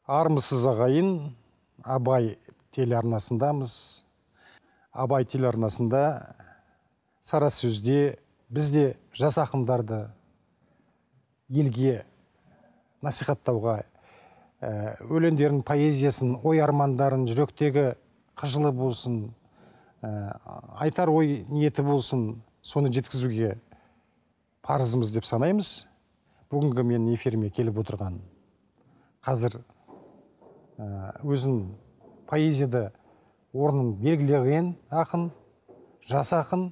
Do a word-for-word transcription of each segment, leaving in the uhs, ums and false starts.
Армысыз ағайын, Абай телеарнасындамыз. Абай телеарнасында сара сөзде бізде жас ақындарды елге насихаттауға, өлеңдерін, поэзиясын, ой армандарын, жүректегі қыжылы болсын, айтар ой ниеті болсын, соны жеткізуге парызымыз деп санаймыз. Бүгінгі мен эфиріме келіп отырған қазір өзін поэзияда орнын белгілеген ақын, жас ақын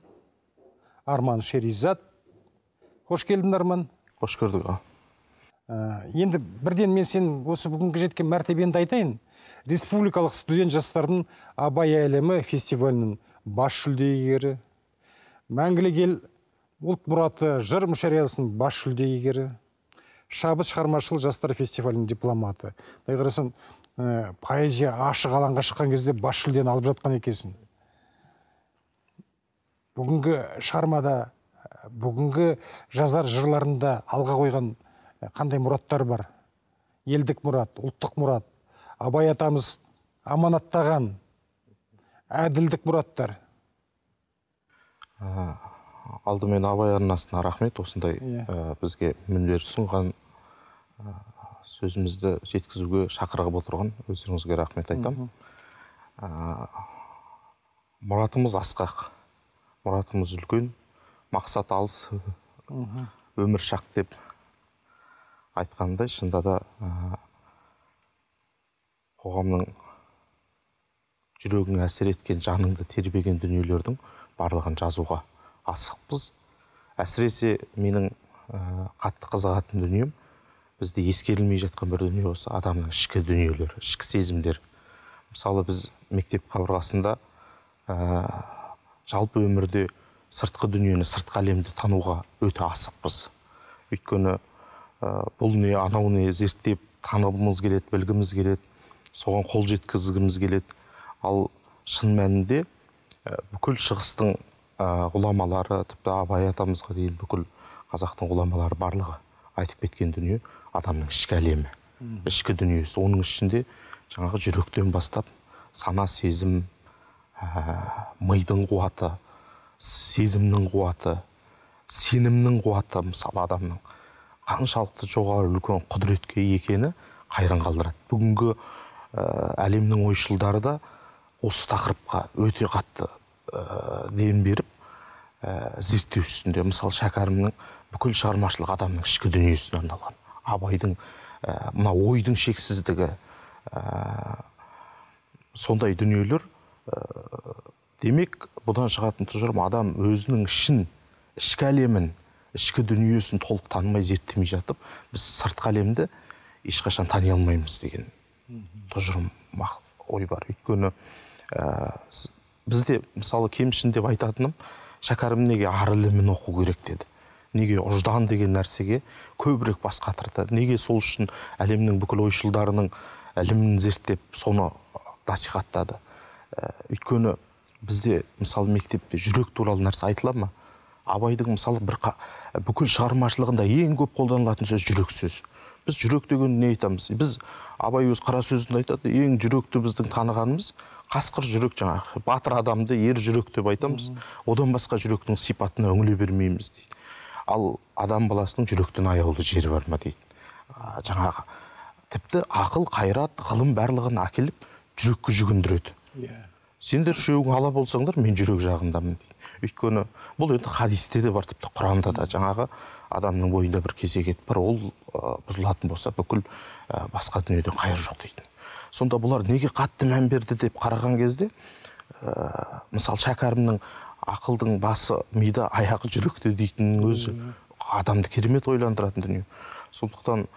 Арман Шеризат. Қош келдің, Арман. Қош көрдік. Енді бірден мен сен осы бүгінгі жеткен мәртебеңді айтайын. Республикалық студент жастардың Абай әлемі фестивалінің бас жүлдегері, Мәңгілік ел ұлт мұраты жыр мүшәйрасының бас жүлдегері, Шабыт шығармашыл жастар фестивалінің дипломаты. Қарасын, поэзия ашық алаңға шыққан кезде бас жүлдені алып жатқан екенсің. Бүгінгі шығармада, бүгінгі жазар жырларында алға қойған қандай мұраттар бар? Елдік мұрат, ұлттық мұрат, Абай атамыз аманаттаған әділдік мұраттар. Алдымен Абай арнасына рахмет, осындай бізге мүнер ұсынған, сөзімізді жеткізуге шақырып отырған өздеріңізге рахмет айтам. Мұратымыз асқақ, мұратымыз үлкен, мақсат алыс, өмір шақ деп айтқандай, шында да қоғамның жүрегің әсер еткен, жаныңды тербеген дүниелердің барлығын жазуға асықпыз. Әсіресе менің қатты қызығатын дүнием, бізде ескерілмей жатқан бір дүние осы, адамның ішкі дүниелері, ішкі сезімдер. Мысалы, біз мектеп қабырғасында жалпы өмірде сыртқы дүниені, сыртқы әлемді тануға өте асықпыз. Өйткені бұл не, анау не зерттеп танығымыз келеді, білгіміз келеді, соған қол жеткізгіміз келеді. Ал шын мәнінде бүкіл шығыстың ғұламалары, тіпті Абай атамызға дейін бүкіл қазақтың ғұламалары барлығы айтып кеткен дүние адамның ішкі әлемі, ішкі дүниесі. Оның ішінде жаңағы жүректен бастап сана, сезім, мидың қуаты, сезімнің қуаты, сенімнің қуаты, мысалы адамның қаншалықты жоғары үлкен құдіретке екені қайран қалдырады. Бүгінгі әлемнің ойшылдары да осы тақырыпқа өте қатты ден беріп зерттеу үстінде. Мысалы, Шәкәрімнің бүкіл шығармашылық адамның ішкі дүниесіне арналған. Абайдың мына ойдың шексіздігі, сондай дүниелер. Демек, бұдан шығатын тұжырым, адам өзінің ішін, ішкі әлемін, ішкі дүниесін толық танымай, зерттемей жатып, біз сыртқы әлемді ешқашан тани алмаймыз деген тұжырым ой бар. Өйткені бізде, мысалы, кемшін деп айтатыным, Шәкәрім неге ар ілімін оқу керек деді. Неге ұждан деген нәрсеге көбірек бас қатырды. Неге сол үшін әлемнің бүкіл ойшылдарының ілімін зерттеп, соны насихаттады. Өйткені бізде, мысалы, мектепте жүрек туралы нәрсе айтыла ма? Абайдың, мысалы, бір бүкіл шығармашылығында ең көп қолданылатын сөз жүрек сөз. Біз жүрек деген не айтамыз? Біз Абай өз қара сөзінде айтады, ең жүректі біздің танығанымыз қасқыр жүрек, жаңағы батыр адамды ер жүрек деп айтамыз. Одан басқа жүректің сипатына үңіле бермейміз дейді. Ал адам баласының жүректен аяулы жері бар ма дейді. Жаңағы тіпті ақыл, қайрат, ғылым барлығын әкеліп жүрекке жүгіндіреді. Сендер үшеуің ала болсаңдар, мен жүрек жағындамын дейді. Өйткені бұл енді хадисте де бар, тіпті Құранда да жаңағы адамның бойында бір кезек бар, ол бұзылатын болса бүкіл басқа дүниеден қайыр жоқ дейді. Сонда бұлар неге қатты мән берді деп қараған кезде, мысалы, Шәкәрімнің ақылдың басы мида, аяғы жүректе дейтіннің өзі адамды керемет ойландыратын дүние. Сондықтан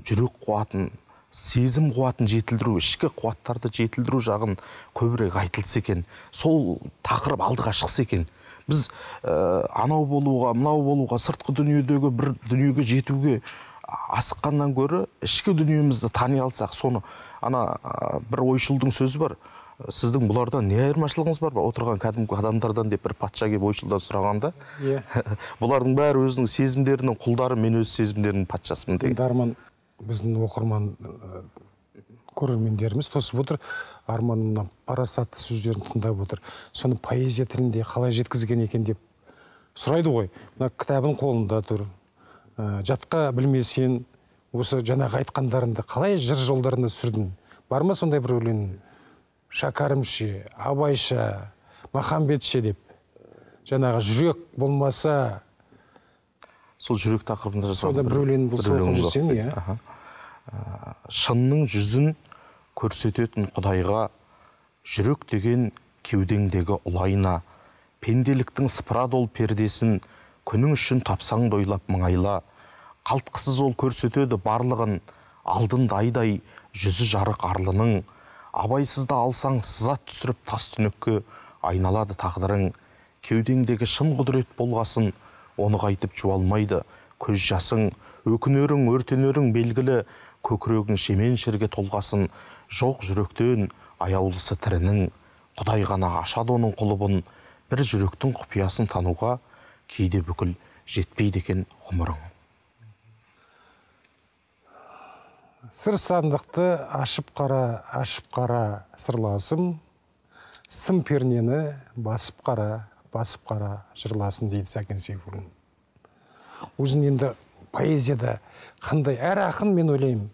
жүрек қуатын, сезім қуатын жетілдіру, ішкі қуаттарды жетілдіру жағын көбірек айтылса екен, сол тақырып алдыға шықса екен, біз анау болуға, мынау болуға, сыртқы дүниедегі бір дүниеге жетуге асыққаннан гөрі ішкі дүниемізді тани алсақ, соны ана бір ойшылдың сөзі бар, сіздің бұлардан не айырмашылығыңыз бар ба? Отырған кәдімгі адамдардан деп бір патша келіп ойшылдан сұрағанда, бұлардың бәрі өзінің сезімдерінің құлдары, мен өз сезімдерінің патшасымын деген. Дарман, біздің оқырман көрермендеріміз тосып отыр, Арманның парасатты сөздерін тыңдап отыр. Соны поэзия тілінде қалай жеткізген екен деп сұрайды ғой. Мына кітабың қолында тұр. Жатқа білмесен, осы жаңағы айтқандарында қалай жыр жолдарында сүрдің? Бар ма сондай бір өлең? Шәкәрімше, Абайша, Махамбетше деп. Жаңағы жүрек болмаса, сол жүрек тақырыбында жазған сонда бір өлең болса оқып жүрсең, иә. Шынның жүзін көрсететін Құдайға, жүрек деген кеудеңдегі ұлайна, пенделіктің сыпыра дол пердесін күнің үшін тапсаң дойлап мыңайла, қалтқысыз ол көрсетеді барлығын, алдында айдай жүзі жарық арлының, абайсызда алсаң сызат түсіріп тас түнекке айналады тағдырың, кеудеңдегі шын құдірет болғасын, оны қайтып жуалмайды көз жасың, өкінерің, өртенерің белгілі, көкірегің шемен шерге толғасын, жоқ жүректен аяулысы тірінің, Құдай ғана ашады оның құлыбын, бір жүректің құпиясын тануға кейде бүкіл жетпейді екен ғұмырың. Сыр сандықты ашып қара, ашып қара сырласым, сым пернені басып қара, басып қара жырласын дейді Сәкен Сейфуллин. Өзін енді поэзияда қандай, әр ақын мен ойлаймын,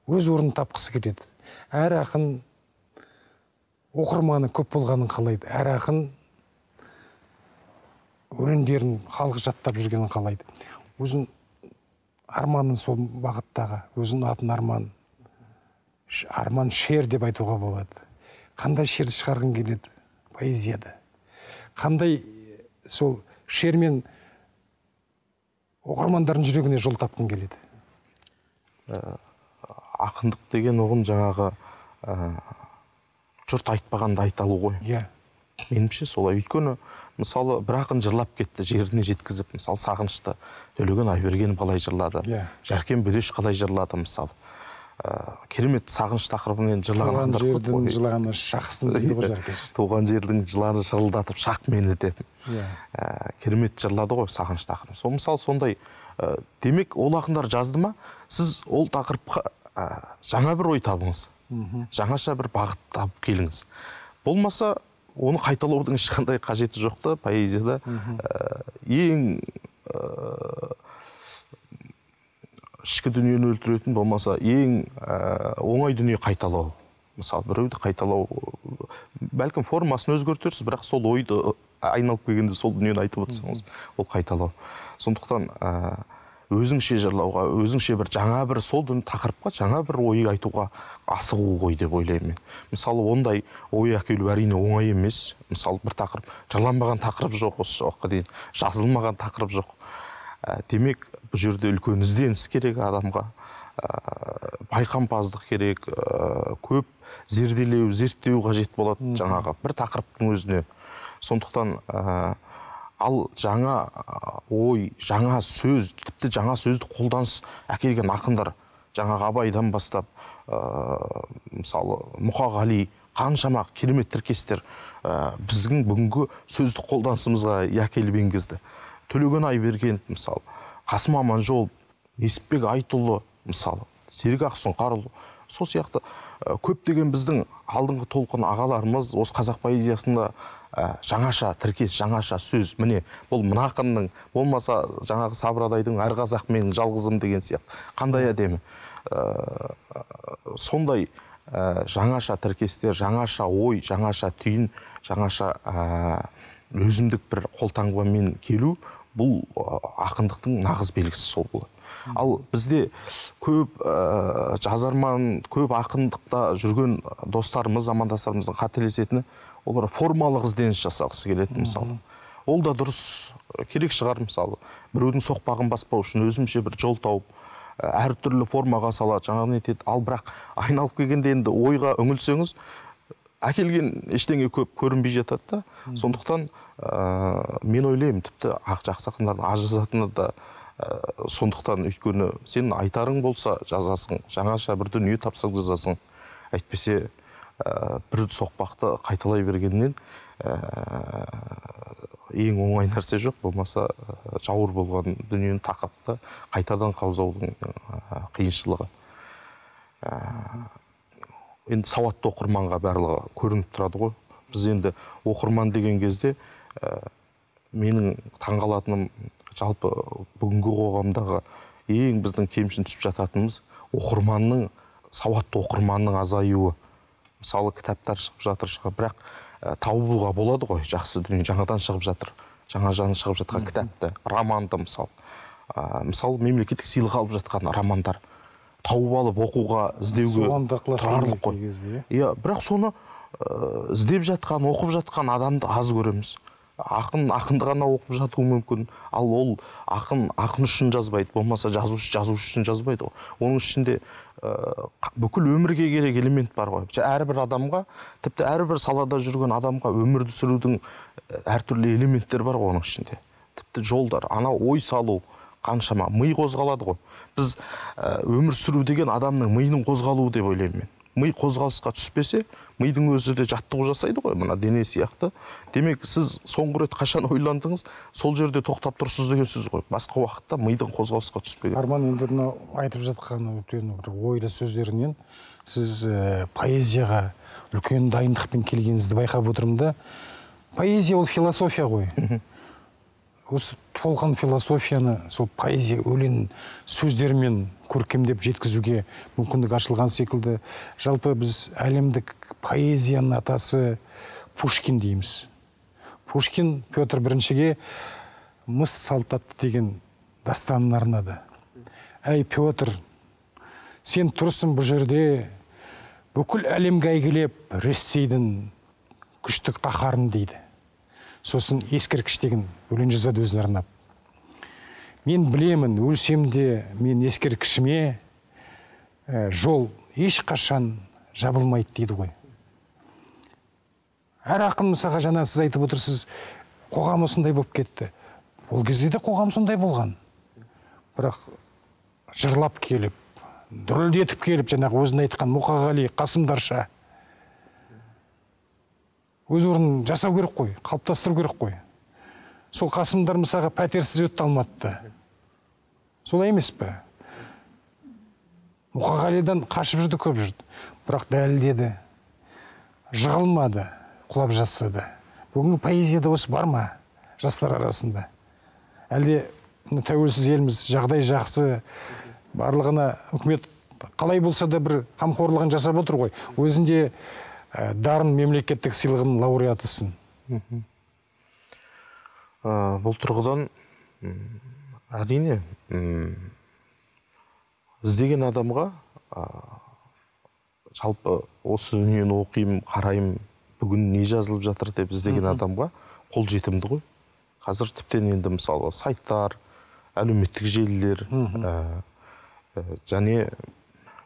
өз орнын тапқысы келеді. Әр ақын оқырманы көп болғанын қалайды. Әр ақын өлеңдерін халық жаттап жүргенін қалайды. Өзін Арманның сол бағыттағы, өзін атын Арман, Арман шер деп айтуға болады. Қандай шерді шығарғың келеді поэзияда? Қандай сол шермен оқырмандардың жүрегіне жол тапқың келеді? Ақындық деген оғын жаңағы жұрт айтпағанды айталу ғой. Иә. Меніңше солай. Өйткені мысалы бір ақын жырлап кетті, жеріне жеткізіп, мысалы Сағынышты Төлеген Айбергенов қалай жырлады, Жәркен Бөдеш қалай жырлады, мысалы керемет сағыныш тақырыбымен жырлаған ақындар көп қой. Туған жердің жылағаны шақсын дейді ғой Жәркеш. Туған жердің жыланы шырылдатып шақ мені деп керемет жырлады ғой сағыныш тақырыбын. Сол мысалы сондай, демек ол ақындар жазды ма, сіз ол тақырыпқа жаңа бір ой табыңыз, жаңаша бір бағыт табып келіңіз. Болмаса оны қайталаудың ешқандай қажеті жоқ та поэзияда. Ең ішкі дүниені өлтіретін, болмаса ең оңай дүние қайталау. Мысалы біреуді қайталау, бәлкім формасын өзгертерсіз, бірақ сол ойды айналып келгенде сол дүниені айтып отырсаңыз, ол қайталау. Сондықтан өзіңше жырлауға, өзіңше бір жаңа бір сол тақырыпқа жаңа бір ой айтуға асығу ғой деп ойлаймын мен. Мысалы ондай ой әкелу әрине оңай емес. Мысалы бір тақырып, жырланбаған тақырып жоқ осы уақытқа дейін, жазылмаған тақырып жоқ. Демек бұл жерде үлкен ізденіс керек адамға, байқампаздық керек, көп зерделеу, зерттеу қажет болады жаңағы бір тақырыптың өзіне. Сондықтан ал жаңа ой, жаңа сөз, тіпті жаңа сөзді қолданыс әкелген ақындар, жаңағы Абайдан бастап, мысалы Мұқағали, қаншама керемет тіркестер біздің бүгінгі сөзді қолданысымызға әкеліп енгізді. Төлеген Айбергенов, мысалы, Қасым Аманжолов, Несіпбек Айтұлы, мысалы, Серік Ақсұңқарұлы, сол сияқты көптеген біздің алдыңғы толқын ағаларымыз осы қазақ поэзиясында жаңаша тіркес, жаңаша сөз, міне бұл мына ақынның, болмаса жаңағы Сабырадайдың әр қазақ менің жалғызым деген сияқты, қандай әдемі. Сондай жаңаша тіркестер, жаңаша ой, жаңаша түйін, жаңаша өзімдік бір қолтаңбамен келу, бұл ақындықтың нағыз белгісі сол болады. Ал бізде көп жазарман, көп ақындықта жүрген достарымыз, замандастарымыздың қателесетіні, олар формалық ізденіс жасағысы келеді, мысалы. Ол да дұрыс, керек шығар, мысалы. Біреудің соқпағын баспау үшін өзімше бір жол тауып, әртүрлі формаға салады, жаңағы нетеді. Ал бірақ айналып келгенде енді ойға үңілсеңіз, әкелген ештеңе көп көрінбей жатады да. Сондықтан мен ойлаймын, тіпті жақсы ақындардың аз жазатыны да сондықтан, өйткені сен айтарың болса жазасың, жаңаша бір дүние тапсаң жазасың. Әйтпесе бір соқпақты қайталай бергеннен ең оңай нәрсе жоқ, болмаса жауыр болған дүниені тақырыпты қайтадан қаузаудың қиыншылығы. енді сауатты оқырманға барлығы көрініп тұрады ғой. Біз енді оқырман деген кезде менің таңғалатыным жалпы бүгінгі қоғамдағы ең біздің кемшін түсіп жататынымыз оқырманның, сауатты оқырманның азаюы. Мысалы кітаптар шығып жатыр, шығып, бірақ табуға болады ғой, жақсы дүние жаңадан шығып жатыр, жаңа жаны шығып жатқан кітапты, романды мысалы. Мысалы мемлекеттік сыйлық алып жатқан романдар тауып алып оқуға, іздеуге тұрарлық қой. Иә, бірақ соны іздеп жатқан, оқып жатқан адамды аз көреміз. Ақын ақынды ғана оқып жатуы мүмкін. Ал ол ақын ақын үшін жазбайды, болмаса жазушы жазушы үшін жазбайды. Оның ішінде бүкіл өмірге керек элемент бар ғой. Әрбір адамға, тіпті әрбір салада жүрген адамға өмірді сүрудің әртүрлі элементтер бар ғой оның ішінде. Тіпті жолдар, ана ой салу қаншама, ми қозғалады ғой. Біз өмір сүру деген адамның миының қозғалуы деп ойлаймын мен. Ми қозғалысқа түспесе, мидың өзі де жаттығу жасайды ғой, мына дене сияқты. Демек, сіз соңғы рет қашан ойландыңыз, сол жерде тоқтап тұрсыз деген сөз ғой. Басқа уақытта мидың қозғалысқа түспеген. Арман, енді мынау айтып жатқан ойда сөздерінен сіз поэзияға үлкен дайындықпен келгеніңізді байқап отырмын да. Поэзия ол философия ғой. Осы толған философияны сол поэзия өлең сөздерімен көркемдеп жеткізуге мүмкіндік ашылған секілді. Жалпы біз әлемдік поэзияның атасы Пушкин дейміз. Пушкин Петр біріншіге мыс салтатты деген дастанын арнады. Әй Петр, сен тұрсың бұл жерде, бүкіл әлемге әйгілеп Ресейдің күштік қаһарын дейді. Сосын ескерткіш деген өлең жазады өзіне арнап. Мен білемін, өлсем де мен ескерткішіме жол ешқашан жабылмайды дейді ғой. Әр ақын мысалға жаңа сіз айтып отырсыз, қоғам осындай болып кетті. Ол кезде де қоғам сондай болған. Бірақ жырлап келіп, дүрілдетіп келіп, жаңағы өзін айтқан Мұқағали, Қасымдарша өз орнын жасау керек қой, қалыптастыру керек қой. Сол Қасымдар мысалға пәтерсіз өтті Алматыда. Солай емес пе? Мұқағалидан қашып жүрді, көп жүрді. Бірақ дәлелдеді, жығылмады, құлап жасады. Бүгінгі поэзияда осы бар ма жастар арасында? Әлде тәуелсіз еліміз жағдай жақсы, барлығына үкімет қалай болса да бір қамқорлығын жасап отыр ғой. Өзінде дарын мемлекеттік сыйлығының лауреатысың. Бұл тұрғыдан әрине іздеген адамға жалпы осы дүниені оқимын, қараймын, бүгін не жазылып жатыр деп іздеген адамға қол жетімді ғой. Қазір тіптен енді мысалы сайттар, әлеуметтік желілер және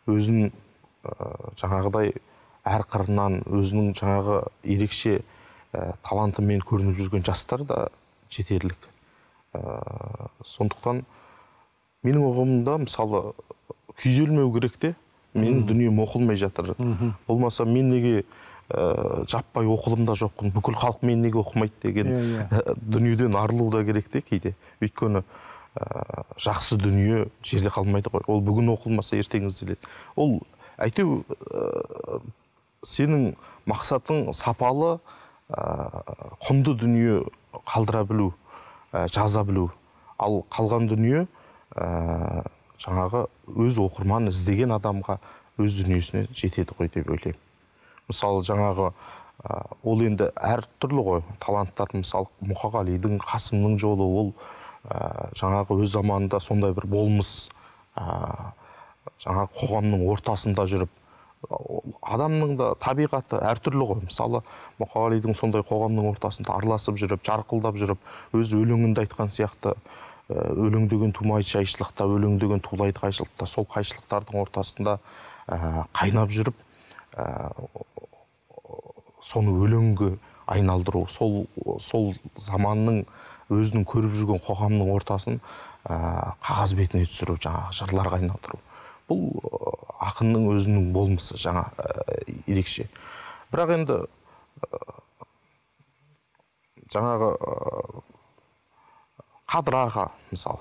өзін жаңағыдай әр қырынан өзінің жаңағы ерекше талантымен көрініп жүрген жастар да жетерлік. Сондықтан менің ұғымымда мысалы күйзелмеу керек те, менің дүнием оқылмай жатыр. Болмаса мен неге жаппай оқылымда жоқпын, бүкіл халық мен неге оқымайды деген дүниеден арылу да керек те кейде. Өйткені жақсы дүние жерде қалмайды ғой. Ол бүгін оқылмаса ертең ізделеді. Ол әйтеу сенің мақсатың сапалы, құнды дүние қалдыра білу, жаза білу. Ал қалған дүние жаңағы өз оқырман іздеген адамға өз дүниесіне жетеді ғой деп ойлаймын. Мысалы жаңағы ол енді әр түрлі ғой таланттар. Мысалы Мұқағалидың, Қасымның жолы ол жаңағы өз заманында сондай бір болмыс, жаңағы қоғамның ортасында жүріп, адамның да табиғаты әртүрлі ғой. Мысалы Мұқағалидың сондай қоғамның ортасында араласып жүріп, жарқылдап жүріп, өз өлеңінде айтқан сияқты, өлең деген тумайды жайшылықта, өлең деген тулайды қайшылықта. Сол қайшылықтардың ортасында қайнап жүріп, соны өлеңге айналдыру, сол сол заманның өзінің көріп жүрген қоғамның ортасын қағаз бетіне түсіру, жаңағы жырларға айналдыру. Бұл ақынның өзінің болмысы жаңа ерекше. Бірақ енді жаңағы Қадыр аға мысалы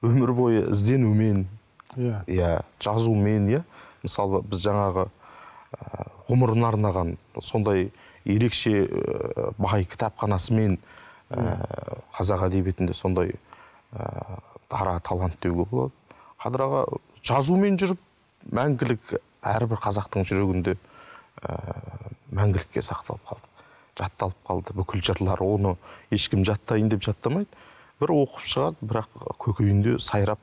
өмір бойы ізденумен, иә иә жазумен, иә мысалы біз жаңағы ғұмырын арнаған сондай ерекше бай кітапханасымен қазақ әдебиетінде сондай дара талант деуге болады. Қадыр аға жазумен жүріп мәңгілік әрбір қазақтың жүрегінде мәңгілікке сақталып қалды, жатталып қалды. Бүкіл жырлар, оны ешкім жаттайын деп жаттамайды. Бір оқып шығады, бірақ көкейінде сайрап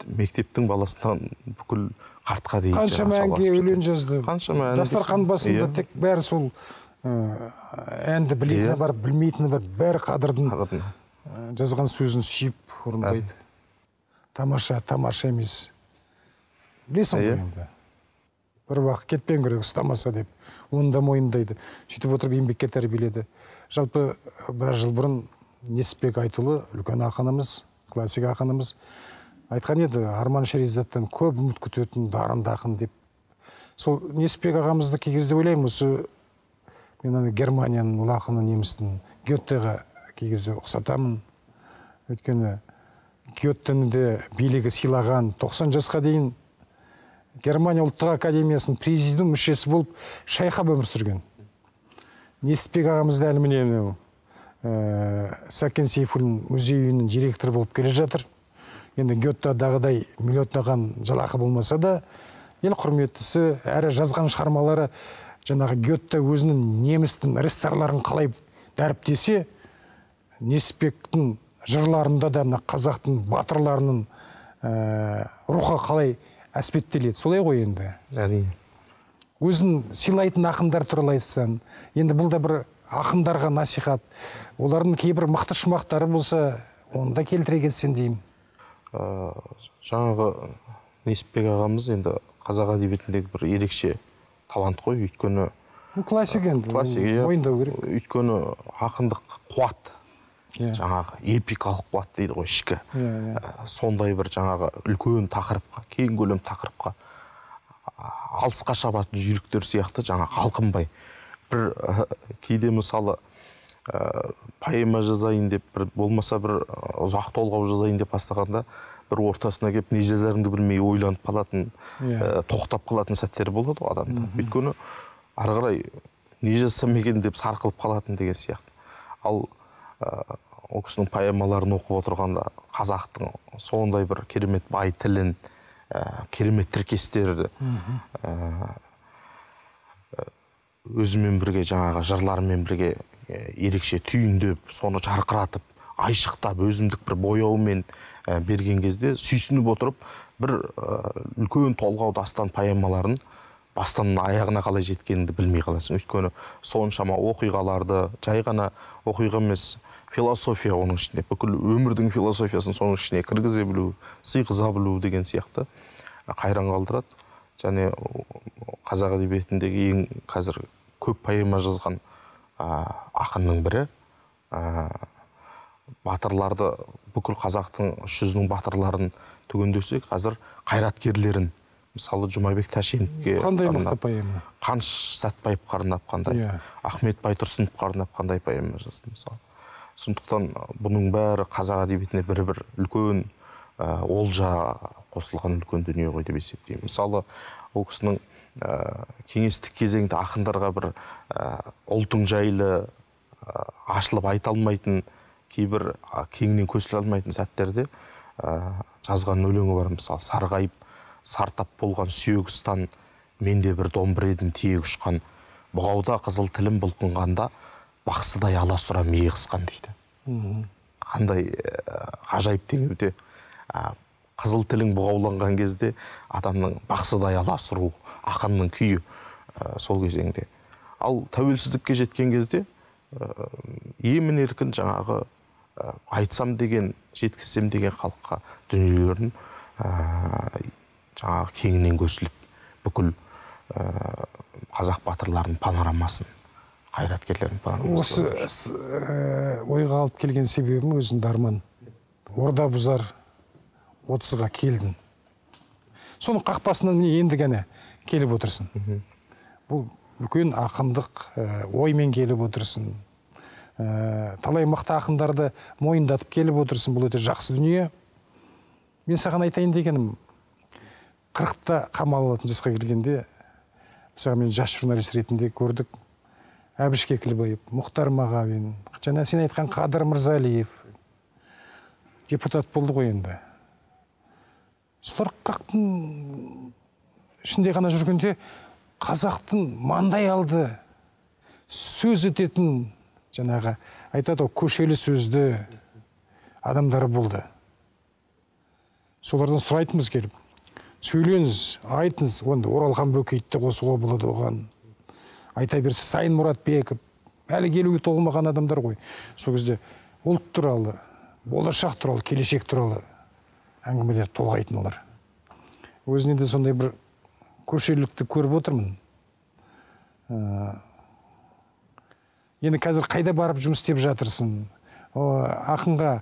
мектептің баласынан бүкіл қартқа дейін қаншама әнге өлең жазды. Қаншама ән. Дастархан басында тек бәрі сол әнді білетіні бар, білмейтіні бар, бәрі Қадырдың жазған сөзін сүйіп орындайды. Тамаша, тамаша емес. Білесің ғой енді. Бір уақыт кетпен керек, ұстамаса деп, оны да мойындайды. Сөйтіп отырып еңбекке тәрбиеледі. Жалпы біраз жыл бұрын Несіпбек Айтұлы, үлкен ақынымыз, классик ақынымыз, айтқан еді, Арман Шеризаттан көп үміт күтетін дарынды ақын деп. Сол Несіпбек ағамызды кей кезде ойлаймын, осы мен ана Германияның ұлы ақыны немістің Геттеға кей кезде ұқсатамын. Өйткені Геттені де билігі сыйлаған, тоқсан жасқа дейін Германия ұлттық академиясының президиум мүшесі болып шайқап өмір сүрген. Несіпбек ағамызды әлі міне Сәкен Сейфуллин музей үйінің директоры болып келе жатыр. Енді Геттедағыдай миллиондаған жалақы болмаса да, ел құрметтісі, әрі жазған шығармалары жаңағы Гетте өзінің немістің рестарларын қалай дәріптесе, Несіпбектің жырларында да мына қазақтың батырларының рухы қалай әспеттеледі. Солай ғой енді. Әрине. Өзін сыйлайтын ақындар туралы айтсаң, енді бұл да бір ақындарға насихат. Олардың кейбір мықты шумақтары болса, оны да келтіре кетсең деймін. Жаңағы Несіпбек ағамыз енді қазақ әдебиетіндегі бір ерекше талант қой, өйткені классик енді, мойындау керек. Өйткені ақындық қуат, жаңағы эпикалық қуат дейді ғой, ішкі. Сондай бір жаңағы үлкен тақырыпқа, кең көлем тақырыпқа алысқа шабатын жүйріктер сияқты жаңағы алқынбай. Бір кейде мысалы поэма жазайын деп, болмаса бір ұзақ толғау жазайын деп бастағанда, бір ортасына келіп не жазарыңды білмей ойланып қалатын, тоқтап қалатын сәттер болады ғой адамда. Өйткені ары қарай не жазсам екен деп сарқылып қалатын деген сияқты. Ал ол кісінің поэмаларын оқып отырғанда қазақтың сондай бір керемет бай тілін, керемет тіркестерді өзімен бірге жаңағы жырларымен бірге ерекше түйіндеп, соны жарқыратып, айшықтап, өзіндік бір бояумен берген кезде сүйсініп отырып, бір үлкен толғау дастан поэмаларын бастан аяғына қалай жеткеніңді білмей қаласың. Өйткені соншама оқиғаларды, жай ғана оқиға емес, философия оның ішіне, бүкіл өмірдің философиясын соның ішіне кіргізе білу, сыйғыза білу деген сияқты қайран қалдырады. Және қазақ әдебиетіндегі ең қазір көп поэма жазған ақынның бірі. Батырларды, бүкіл қазақтың үш жүзінің батырларын түгендесек, қазір қайраткерлерін, мысалы Жұмабек Тәшеновке қандай мықты поэма? Қаныш Сәтбаевқа арнап қандай, Ахмет Байтұрсыновқа арнап қандай поэма жазды мысалы. Сондықтан бұның бәрі қазақ әдебиетіне бір-бір үлкен олжа қосылған үлкен дүние ғой деп есептеймін. Мысалы, ол кісінің кеңестік кезеңде ақындарға бір ұлтың жайлы ашылып айта алмайтын, кейбір кеңінен көсіле алмайтын сәттерде жазған өлеңі бар. Мысалы, сарғайып, сартап болған сүйегістан, менде бір домбыр едім тиек ұшқан, бұғауда қызыл тілім бұлқынғанда, бақсыдай аласұра миы қысқан дейді. Қандай ғажайып деген өте. Қызыл тілің бұғауланған кезде адамның бақсыдай аласұру, ақынның күйі сол кезеңде. Ал тәуелсіздікке жеткен кезде емін еркін жаңағы айтсам деген, жеткізсем деген халыққа дүниелерін жаңағы кеңінен көсіліп, бүкіл қазақ батырларының панорамасын, қайраткерлерінің панорамасын. Осы ойға алып келген себебім өзің Арман. Орда бұзар отызға келдің. Соның қақпасынан енді ғана келіп отырсың. Бұл үлкен ақындық оймен келіп отырсың. Талай мықты ақындарды мойындатып келіп отырсың. Бұл өте жақсы дүние. Мен саған айтайын дегенім, қырықта қамалатын жасқа келгенде, мысалы мен жас журналист ретінде көрдік, Әбіш Кекілбаев, Мұхтар Мағауин, жаңа сен айтқан Қадыр Мырзалиев депутат болды ғой енді. Солар қырықтың ішінде ғана жүргенде қазақтың маңдай алды сөз ететін, жаңағы айтады ғой, көшелі сөзді адамдары болды. Солардан сұрайтынбыз келіп, сөйлеңіз, айтыңыз, онда Оралхан Бөкейді қосуға болады оған. Айта берсе, Сайын Мұратбеков, әлі келуге толмаған адамдар ғой. Сол кезде ұлт туралы, болашақ туралы, келешек туралы әңгімелер толғайтын олар. Өзіне де сондай бір көшелілікті көріп отырмын. Енді қазір қайда барып жұмыс істеп жатырсың? Ақынға,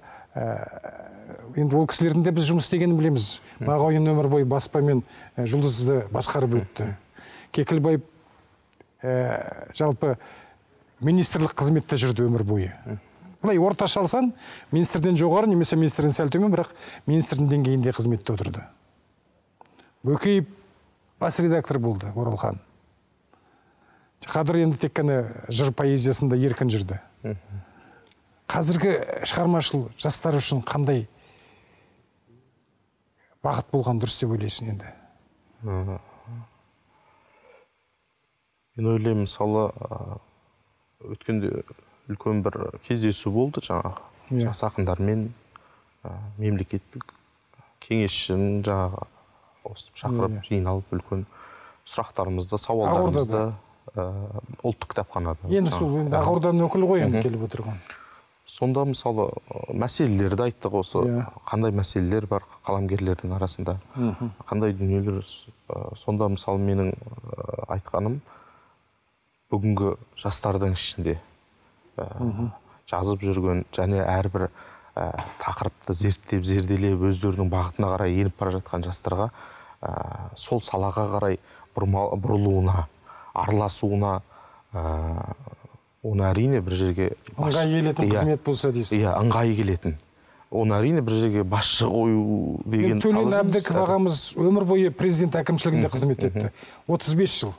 енді ол кісілердің де біз жұмыс істегенін білеміз. Мағауин өмір бойы баспамен жұлдызды басқарып өтті. Кекілбаев жалпы министрлік қызметте жүрді өмір бойы. Бұлай орташа алсан, министрден жоғары, немесе министрден сәл төмен, бірақ министрдің деңгейінде қызметте отырды. Бөкеев бас редактор болды, Оралхан. Қадыр енді тек қана жыр поэзиясында еркін жүрді. Қазіргі шығармашыл жастар үшін қандай бағыт болған дұрыс деп ойлайсың енді? Мен ойлаймын, мысалы, өткенде үлкен бір кездесу болды, жаңағы жас ақындармен мемлекеттік кеңесшінің жаңағы осып шақырып, жиналып үлкен сұрақтарымызды, сауалдарымызды ұлттық кітапханада. Енді сол Ақорданың өкілі ғой енді келіп отырған. Сонда мысалы мәселелерді айттық, осы қандай мәселелер бар қаламгерлердің арасында, қандай дүниелер. Сонда мысалы менің айтқаным, бүгінгі жастардың ішінде жазып жүрген және әрбір тақырыпты зерттеп, зерделеп, өздерінің бағытына қарай еніп бара жатқан жастарға сол салаға қарай бұрылуына, араласуына, оны әрине бір жерге ыңғай келетін қызмет болса дейсіз. Иә, ыңғай келетін. Оны әрине бір жерге басшы қою деген. Төлен Әбдіков ағамыз өмір бойы президент әкімшілігінде қызмет етті. отыз бес жыл.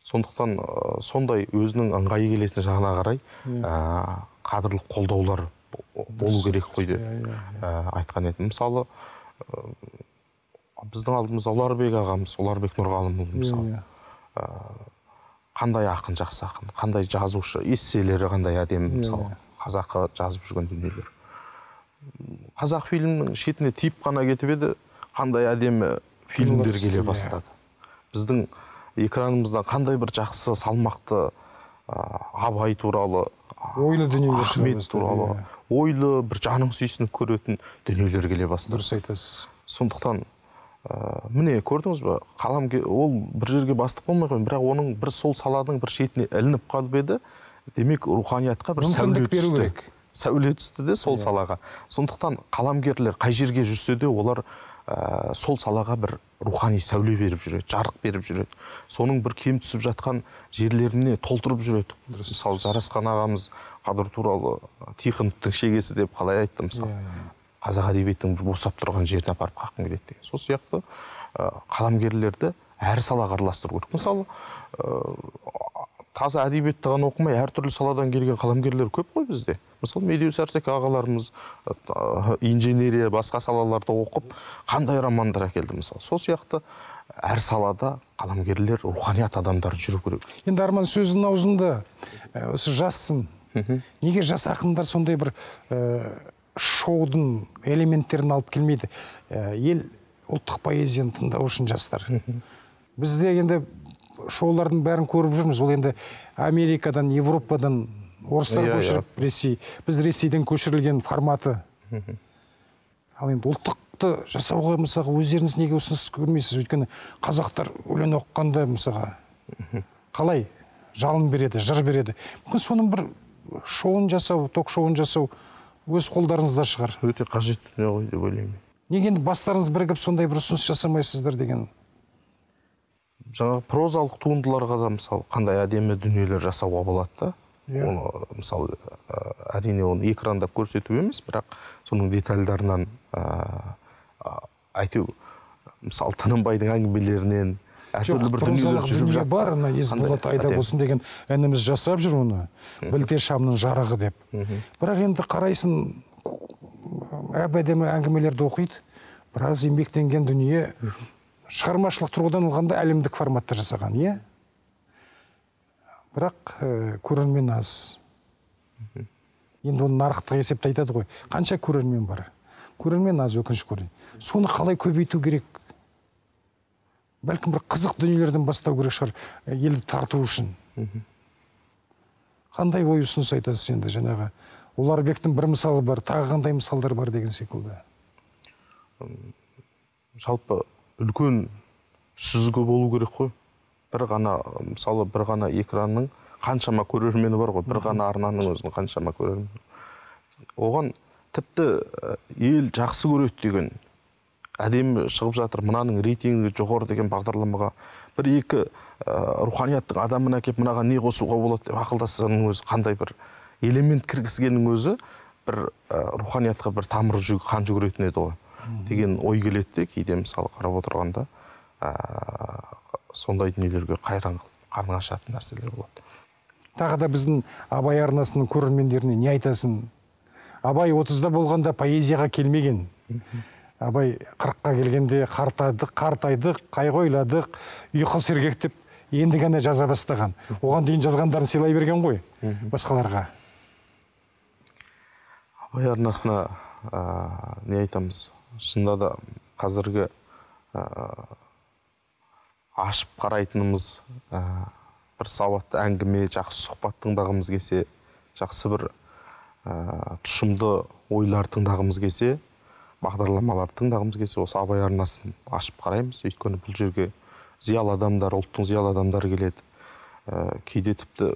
Сондықтан сондай өзінің ыңғайы келетін жағына қарай қадірлі қолдаулар болу керек қой деп айтқан едім. Мысалы, біздің алдымызда Ұларбек ағамыз, Ұларбек Нұрғалымұлы мысалы. Қандай ақын, жақсы ақын, қандай жазушы, эсселері қандай әдемі, мысалы, қазақы жазып жүрген дүниелер. Қазақ фильмнің шетіне тиіп қана кетіп еді, қандай әдемі фильмдер келе бастады. Біздің экранымыздан қандай бір жақсы, салмақты Абай туралы, ойлы дүниелер, Ахмет туралы, ойлы, бір жаның сүйсініп көретін дүниелер келе бастады. Дұрыс айтасыз. Сондықтан міне көрдіңіз бе, қаламгер ол бір жерге бастық болмай қойын, бірақ оның бір сол саланың бір шетіне ілініп қалып еді, демек руханиятқа бір сәуле түсті. Сәуле түсті де сол салаға. Сондықтан қаламгерлер қай жерге жүрсе де, олар сол салаға бір рухани сәуле беріп жүреді, жарық беріп жүреді. Соның бір кем түсіп жатқан жерлеріне толтырып жүреді. Мысалы, Жарасқан ағамыз Қадыр туралы Тихоновтың шегесі деп қалай айтты, мысалы. Қазақ әдебиетінің босап тұрған жеріне апарып қаққым келеді деген. Сол сияқты қаламгерлерді әр салаға араластыру керек. Мысалы, таза әдебиетті ғана оқымай, әртүрлі саладан келген қаламгерлер көп қой бізде. Мысалы, Медеу Сәрсек ағаларымыз инженерия, басқа салаларда оқып, қандай романдар әкелді мысалы. Сол сияқты әр салада қаламгерлер, руханият адамдар жүру керек. Енді Арман, сөздің аузында осы жассың. Неге жас ақындар сондай бір шоудың элементтерін алып келмейді? Ел ұлттық поэзияны тыңдау үшін жастар. Бізде енді шоулардың бәрін көріп жүрміз. Ол енді Америкадан, Европадан орыстар көшіріп, Ресей. Біз Ресейден көшірілген форматы. Ал енді ұлттықты жасауға мысалға өздеріңіз неге ұсыныс көрмейсіз? Өйткені қазақтар өлең оқығанда мысалға қалай жалын береді, жыр береді. Мүмкін соның бір шоуын жасау, ток шоуын жасау өз қолдарыңызда шығар. Өте қажет дүние ғой деп ойлаймын. Неге енді бастарыңыз бірігіп сондай бір ұсыныс жасамайсыздар деген? Жаңағы прозалық туындыларға да мысалы қандай әдемі дүниелер жасауға болады да. Оны мысалы әрине оны экранда көрсету емес, бірақ соның детальдарынан әйтеу мысалы Тынымбайдың әңгімелерінен әртүрлі бір дүниелер жүріп жатса бар, ана Есболат айда болсын деген ініміз жасап жүр оны, білте шамның жарығы деп. Бірақ енді қарайсын, әп-әдемі әңгімелерді оқиды, біраз еңбектенген дүние, шығармашылық тұрғыдан алғанда әлемдік форматта жасаған, иә? Бірақ көрермен аз. Енді оны нарықтық есепті айтады ғой. Қанша көрермен бар? Көрермен аз, өкінішке орай. Соны қалай көбейту керек? Бәлкім бір қызық дүниелерден бастау керек шығар, елді тарту үшін. Қандай ой ұсыныс айтасыз енді жаңағы? Ұларбектің бір мысалы бар, тағы қандай мысалдар бар деген секілді. Жалпы үлкен сүзгі болу керек қой. Бір ғана, мысалы, бір ғана экранның қаншама көрермені бар ғой, бір ғана арнаның өзінің қаншама көрермені. Оған тіпті ел жақсы көреді деген, әдемі шығып жатыр, мынаның рейтингі жоғары деген бағдарламаға бір екі руханияттың адамына келіп мынаған не қосуға болады деп ақылдасқанның өзі, қандай бір элемент кіргізгеннің өзі бір руханиятқа бір тамыр жүг, қан жүгіретін еді ғой деген ой келеді де, кейде мысалы қарап отырғанда сондай дүниелерге қайран қарның ашатын нәрселер болады. Тағы да біздің Абай арнасының көрермендеріне не айтасың? Абай отызда болғанда поэзияға келмеген. Абай қырыққа келгенде қартайдық, қартайдық, қайғы-ойладық, ұйқы сергектеп, енді ғана жаза бастаған. Оған дейін жазғандарын сыйлай берген ғой басқаларға. Абай арнасына не айтамыз? Шынында да қазіргі ашып қарайтынымыз бір сауатты әңгіме, жақсы сұхбат тыңдағымыз келсе, жақсы бір тұшымды ойлар тыңдағымыз келсе, бағдарламалар тыңдағымыз келсе, осы Абай арнасын ашып қараймыз. Өйткені бұл жерге зиялы адамдар, ұлттың зиялы адамдары келеді. Кейде тіпті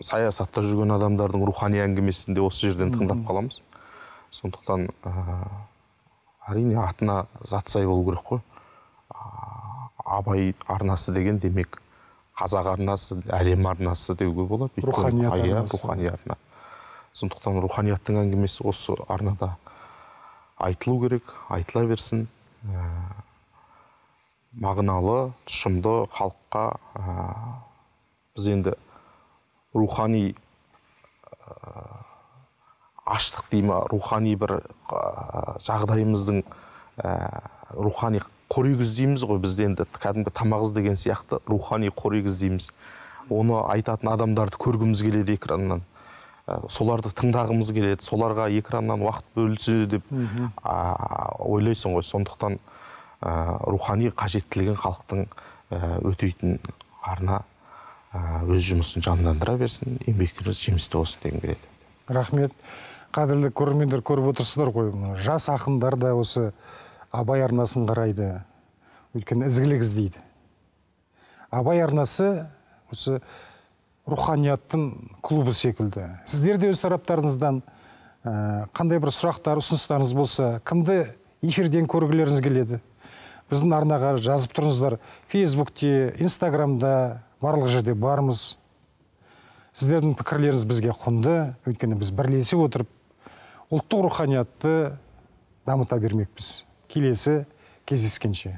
саясатта жүрген адамдардың рухани әңгімесінде осы жерден тыңдап қаламыз. Сондықтан әрине атына зат сай болу керек қой. Абай арнасы деген демек қазақ арнасы, әлем арнасы деуге болады. Рухани арна. Сондықтан руханияттың әңгімесі осы арнада айтылу керек, айтыла берсін. Мағыналы, тұшымды халыққа біз енді рухани аштық дейма, рухани бір жағдайымыздың рухани қорегіз дейміз ғой, бізде енді кәдімгі тамағыз деген сияқты рухани қорегіз дейміз. Оны айтатын адамдарды көргіміз келеді экраннан. Соларды тыңдағымыз келеді, соларға экраннан уақыт бөлінсе деп ойлайсың ғой. Сондықтан рухани қажеттілігін халықтың өтейтін арна өз жұмысын жандандыра берсін, еңбектеріңіз жемісті болсын деген келеді. Рахмет. Қадірлі көрермендер, көріп отырсыздар ғой, жас ақындар да осы Абай арнасын қарайды, өйткені ізгілік іздейді. Абай арнасы осы руханияттың клубы секілді. Сіздер де өз тараптарыңыздан қандай бір сұрақтар, ұсыныстарыңыз болса, кімді эфирден көргілеріңіз келеді? Біздің арнаға жазып тұрыңыздар. Фейсбукте, Инстаграмда, барлық жерде бармыз. Сіздердің пікірлеріңіз бізге құнды, өйткені біз бірлесе отырып, ұлттық руханиятты дамыта бермекпіз. Келесі кездескенше.